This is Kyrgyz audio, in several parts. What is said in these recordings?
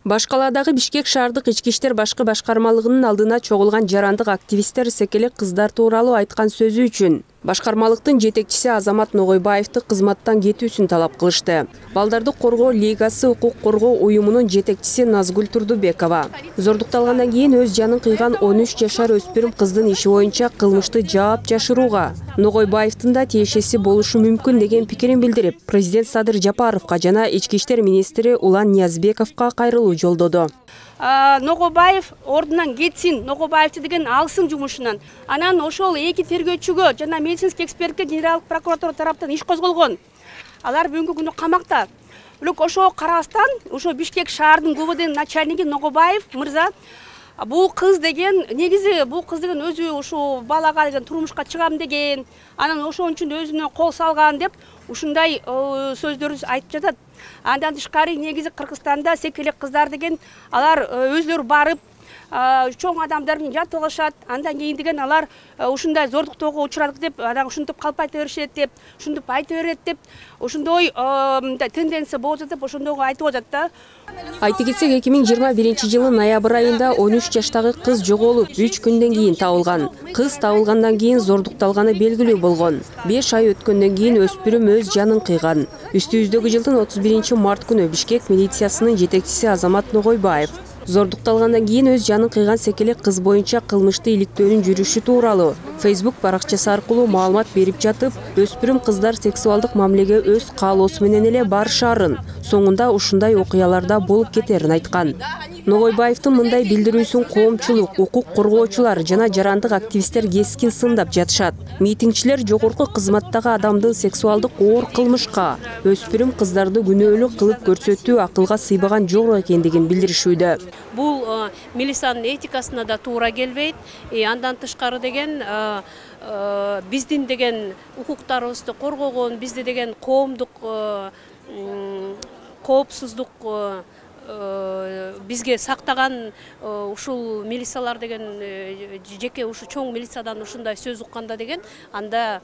Башкаладагы Бишкек шаардык ички иштер башкы башкармалыгынын алдына чогулган жарандык активисттер секелек кыздар тууралуу айткан сөзү үчүн башкармалыктын жетекчиси Азамат Ногойбаевди кызматтан кетүүсүн талап кылышты. Балдарды коргоо лигасы укук коргоо уюмунун жетекчиси Назгүл Турдубекова зордукталгандан кийин өз жанын кыйган 13 жашар өспүрүм кыздын иши боюнча кылмышты жаап жашырууга Ногойбаевдин да тиешеси болушу мүмкүн деген пикирин билдирип, президент Садыр Жапаровго жана ички иштер министри Улан Ниязбековго кайрылуу жолдоду. Ногойбаев ордунан кетсин, Ногойбаевди деген алсын жумушунан. Анан ошол эки тергөөчүгө жана медицинский экспертке генералдык прокуратура тараптан иш козголгон. Алар бүгүнкү күндө камакта. Бирок ошого карабастан, ошо Бишкек шаардын ГУВДнын начальниги Ногойбаев мырза бул кыз деген өзү ушу балага деген турмушка чыгам деген, анан ошон үчүн өзүнө кол салган деп ушундай сөздөрү айтып жатат. Андан тышкары негизи Кыргызстанда секелек кыздар деген алар өзлөрү барып чоң адамдар менен жатып алышат. Андан кийин деген алар ушундай зордуктоого учурадык деп, анан ушинтип калп айта беришет деп, ушинтип айта берет деп, ошондой тенденция болуп жатат деп ошондойго айтып атат да. Айта кетсек, 2021-жылы ноябрь айында 13 жаштагы кыз жоголуп, 3 күндөн кийин табылган. Кыз табылгандан кийин зордукталганы белгилүү болгон. 5 ай өткөндөн кийин өспүрүм өз жанын кыйган. Үстүбүздөгү жылдын 31-март күнү Бишкек милициясынын жетекчиси Азамат Ногойбаев зордукталгандан кийин өз жанын кыйган секелек кыз боюнча кылмышты иликтөөнүн жүрүшү тууралуу Facebook баракчасы аркылуу маалымат берип жатып, өспүрүм кыздар сексуалдык мамилеге өз каалоосу менен эле барышаарын, соңунда ушундай окуяларда болуп кетерин айткан. Ногойбаевдин мындай билдирүүсүн коомчулук, укук коргоочулар жана жарандык активисттер кескин сындап жатышат. Митингчилер жогорку кызматтагы адамдын сексуалдык оор кылмышка, өспүрүм кыздарды күнөөлүү кылып көрсөтүү акылга сыйбаган жок экендигин билдиришүүдө. Бул милициянын этикасына да туура келбейт. Андан тышкары деген биздин деген укуктарыбызды коргогон, бизди деген коомдук коопсуздук бизге сактаган ушул милициялар деген жеке ушу чоң милициядан ушундай сөз укканда деген анда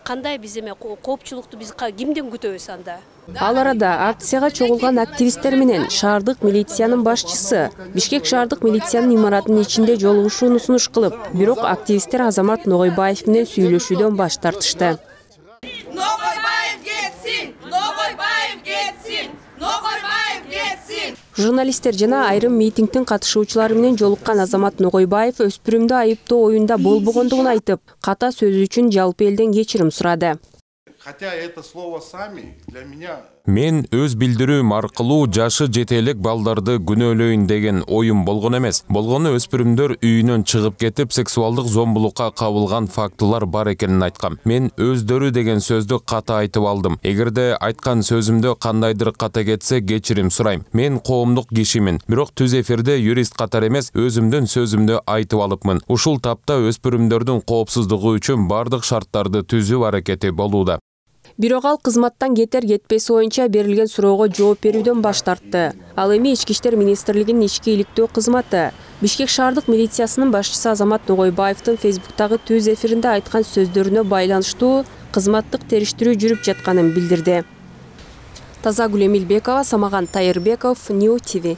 кандай биз эме коопчулукту биз кимден күтөбүз анда? Ал арада акцияга чогулган активисттер менен шаардык милициянын башчысы Бишкек шаардык милициянын имаратынын ичинде жолугушууну сунуш кылып, бирок активисттер Азамат Ногойбаев менен сүйлөшүүдөн баш тартышты. Ногойбаев кетсин! Ногойбаев кетсин! Ногойбаев кетсин! Журналисттер жана айрым митингдин катышуучулары менен жолуккан Азамат Ногойбаев өспүрүмдү айыптоо оюнда болбогондугун айтып, ката сөзү үчүн жалпы элден кечирим сурады. Хотя это слово «сами» для меня... Мен өз билдирүүм аркылуу жашы жете элек балдарды күнөөлөйүн деген оюм болгон эмес. Болгону өспүрүмдөр үйүнөн чыгып кетип, сексуалдык зомбулукка кабылган фактылар бар экенин айткам. Мен өздөрү деген сөздү ката айтып алдым. Эгерде айткан сөзүмдө кандайдыр ката кетсе, кечирим сурайм. Мен коомдук кишимин, бирок түз эфирде юрист катары эмес, өзүмдүн сөзүмдү айтып алыпмын. Ушул тапта өспүрүмдөрдүн коопсуздугу үчүн бардык шарттарды түзүү аракети болууда. Бирок ал кызматтан кетер-кетпеси боюнча берилген суроого жооп берүүдөн баш тартты. Ал эми Ички иштер министрлигинин ички иликтөө кызматы Бишкек шаардык милициясынын башчысы Азамат Ногойбаевдин Facebook'тагы түз эфиринде айткан сөздөрүнө байланыштуу кызматтык териштирүү жүрүп жатканын билдирди. Тазагүл Эмилбекова, Самаган Тайырбеков, New TV.